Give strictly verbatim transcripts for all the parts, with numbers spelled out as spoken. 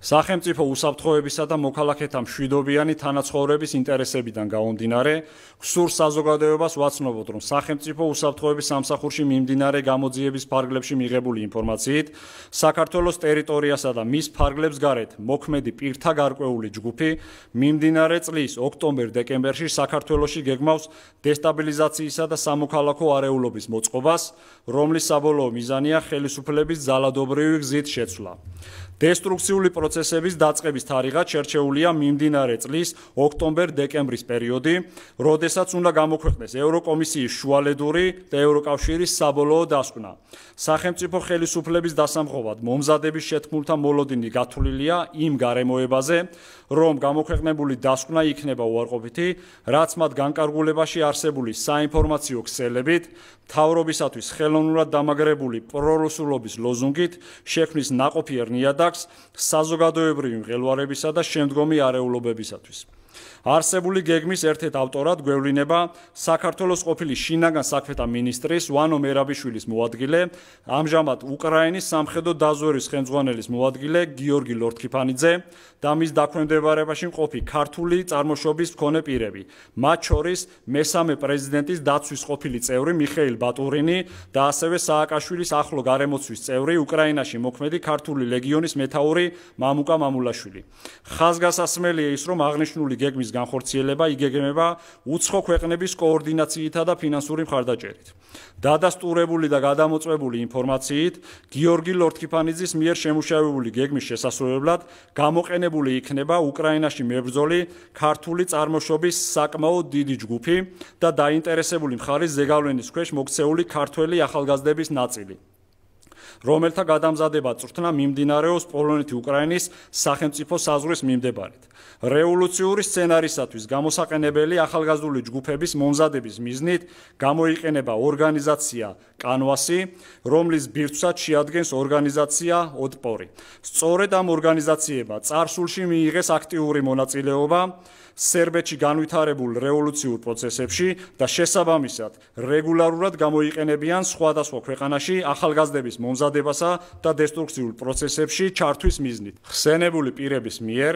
სახელმწიფო უსაფრთხოებისა და მოქალაქეთა მშვიდობიანი თანაცხოვრების ინტერესებიდან გამომდინარე, გსურს საზოგადოებას ვაცნობოთ, რომ სახელმწიფო უსაფრთხოების სამსახურში მიმდინარე გამოძიების ფარგლებში მიღებული ინფორმაციით, საქართველოს ტერიტორიასა და მის ფარგლებს გარეთ მოქმედი პირთა გარკვეული ჯგუფი მიმდინარე წლის ოქტომბერ-დეკემბერში საქართველოში გეგმავს დესტაბილიზაციისა და სამოქალაქო არეულობის მოწყობას, რომლის საბოლოო მიზანია ხელისუფლების ძალადობრივი გზით შეცვლა. დესტრუქციული პროცესების დაწყების თარიღად შერჩეულია მიმდინარე წლის ოქტომბერ-დეკემბრის პერიოდი, როდესაც უნდა გამოქვეყნდეს ევროკომისიის შუალედური და ევროკავშირის საბოლოო დასკვნა. სახელმწიფო ხელისუფლების დასამხობად მომზადების შეთქმულთა მოლოდინი გათვლილია იმ გარემოებაზე, რომ გამოქვეყნებული დასკვნა იქნება უარყოფითი, რაც მათ განკარგულებაში არსებული საინფორმაციო ქსელებით, მთავრობისათვის ხელოვნურად დამაგრებული პრორუსულობის ლოზუნგით შექმნის ნაყოფიერ ნიადაგს საზოგადოებრივი მღელვარებისა და შემდგომი არეულობებისათვის. არსებული გეგმის ერთ-ერთ ავტორად გვევლინება საქართველოს ყოფილი შინაგან საქმეთა მინისტრის ვანო მერაბიშვილის მოადგილე, ამჟამად უკრაინის სამხედრო დაზვერვის ხელმძღვანელის მოადგილე გიორგი ლორთქიფანიძე და მის დაქვემდებარებაში მყოფი ქართული წარმოშობის მქონე პირები, მათ შორის მესამე პრეზიდენტის დაცვის ყოფილი წევრი მიხეილ ბატურინი და ასევე სააკაშვილის ახლო გარემოცვის წევრი უკრაინაში მოქმედი ქართული ლეგიონის მეთაური მამუკა მამულაშვილი. ხაზგასასმელია ის, რომ აღნიშნული გეგმის განხორციელება იგეგმება უცხო ქვეყნების კოორდინაციითა და ფინანსური მხარდაჭერით. დადასტურებული და გადამოწმებული ინფორმაციით, გიორგი ლორთქიფანიძის მიერ შემუშავებული გეგმის შესასრულებლად გამოყენებული იქნება უკრაინაში მებრძოლი ქართული წარმოშობის საკმაოდ დიდი ჯგუფი და დაინტერესებული მხარის ზეგავლენის ქვეშ მოქცეული ქართველი ახალგაზრდების ნაწილი, რომელთა გადამზადება წვრთნა მიმდინარეობს პოლონეთ-უკრაინის სახელმწიფო საზღვრის მიმდებარედ. რევოლუციური სცენარისათვის გამოსაყენებელი ახალგაზრდული ჯგუფების მომზადების მიზნით გამოიყენება ორგანიზაცია კანვასი, რომლის ბირთვსაც შეადგენს ორგანიზაცია ოტპორი. სწორედ ამ ორგანიზაციებმა წარსულში მიიღეს აქტიური მონაწილეობა სერბეთში განვითარებულ რევოლუციურ პროცესებში და შესაბამისად რეგულარულად გამოიყენებიან სხვადასხვა ქვეყანაში ახალგაზრდების მომზადებასა და დესტრუქციულ პროცესებში ჩართვის მიზნით. ხსენებული პირების მიერ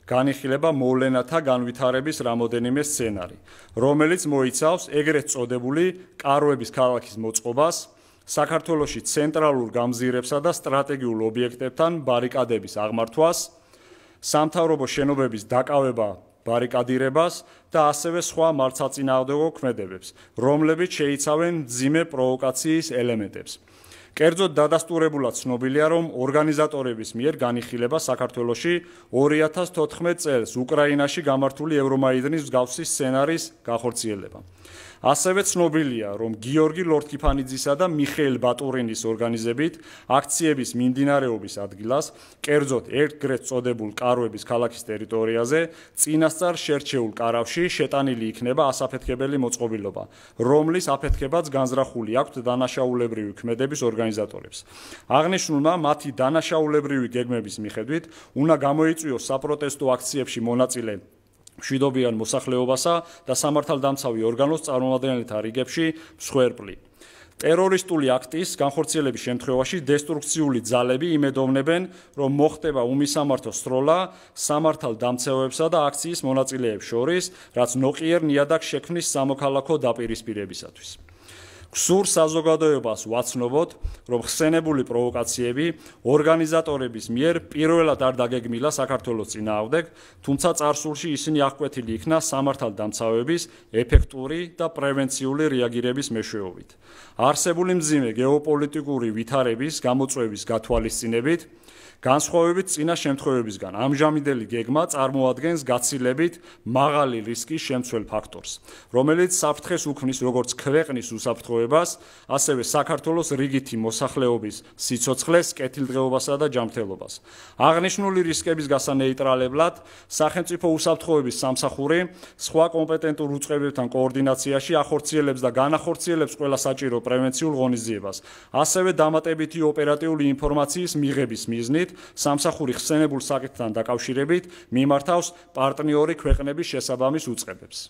განიხილება მოვლენათა განვითარების რამოდენიმე სცენარი, რომელიც მოიცავს ეგრეთ წოდებული კაროების ქალაქის მოწყობას, საქართველოში ცენტრალურ გამზირებსა და სტრატეგიულ ობიექტებთან ბარიკადების აღმართვას, სამთავრობო შენობების დაკავება ბარიკადირებას და ასევე სხვა მართლსაწინააღმდეგო ქმედებებს, რომლებიც შეიცავენ მძიმე პროვოკაციის ელემენტებს. კერძოდ დადასტურებულად ცნობილია, რომ ორგანიზატორების მიერ განიხილება საქართველოში ორი ათას თოთხმეტ წელს უკრაინაში გამართული ევრომაიდანის მსგავსი სცენარის განხორციელება. ასევე ცნობილია, რომ გიორგი ლორთქიფანიძისა და მიხეილ ბატურინის ორგანიზებით აქციების მიმდინარეობის ადგილას, კერძოდ ეგრეთ წოდებულ კაროების ქალაქის ტერიტორიაზე, წინასწარ შერჩეულ კარავში შეტანილი იქნება ასაფეთქებელი მოწყობილობა, რომლის აფეთქებაც განზრახული აქვთ დანაშაულებრივი ქმედების ორგანიზატორებს. აღნიშნულმა მათი დანაშაულებრივი გეგმების მიხედვით უნდა გამოიწვიოს საპროტესტო აქციებში მონაწილე მშვიდობიან მოსახლეობასა და სამართალდამცავი ორგანოს წარმომადგენელთა რიგებში მსხვერპლი. ტერორისტული აქტის განხორციელების შემთხვევაში დესტრუქციული ძალები იმედოვნებენ, რომ მოხდება უმისამართო სროლა სამართალდამცავებსა და აქციის მონაწილეებს შორის, რაც ნოყიერ ნიადაგს შექმნის სამოქალაქო დაპირისპირებისათვის. გსურს საზოგადოებას ვაცნობოთ, რომ ხსენებული პროვოკაციები ორგანიზატორების მიერ პირველად არ დაგეგმილა საქართველოს წინააღმდეგ, თუმცა წარსულში ისინი აღკვეთილი იქნა სამართალდამცავების ეფექტური და პრევენციული რეაგირების მეშვეობით. არსებული მძიმე გეოპოლიტიკური ვითარების გამოწვევის გათვალისწინებით, განსხვავებით წინა შემთხვევებისგან, ამჟამინდელი გეგმა წარმოადგენს გაცილებით მაღალი რისკის შემცველ ფაქტორს, რომელიც საფრთხეს უქმნის როგორც ქვეყნის უსაფრთხოებას, ასევე საქართველოს რიგითი მოსახლეობის სიცოცხლეს, კეთილდღეობასა და ჯანმრთელობას. აღნიშნული რისკების გასანეიტრალებლად, სახელმწიფო უსაფრთხოების სამსახური სხვა კომპეტენტურ უწყებებთან კოორდინაციაში ახორციელებს და განახორციელებს ყველა საჭირო პრევენციულ ღონისძიებას, ასევე დამატებითი ოპერატიული ინფორმაციის მიღების მიზნით სამსახური ხსენებულ საკითხთან დაკავშირებით მიმართავს პარტნიორი ქვეყნების შესაბამის უწყებებს.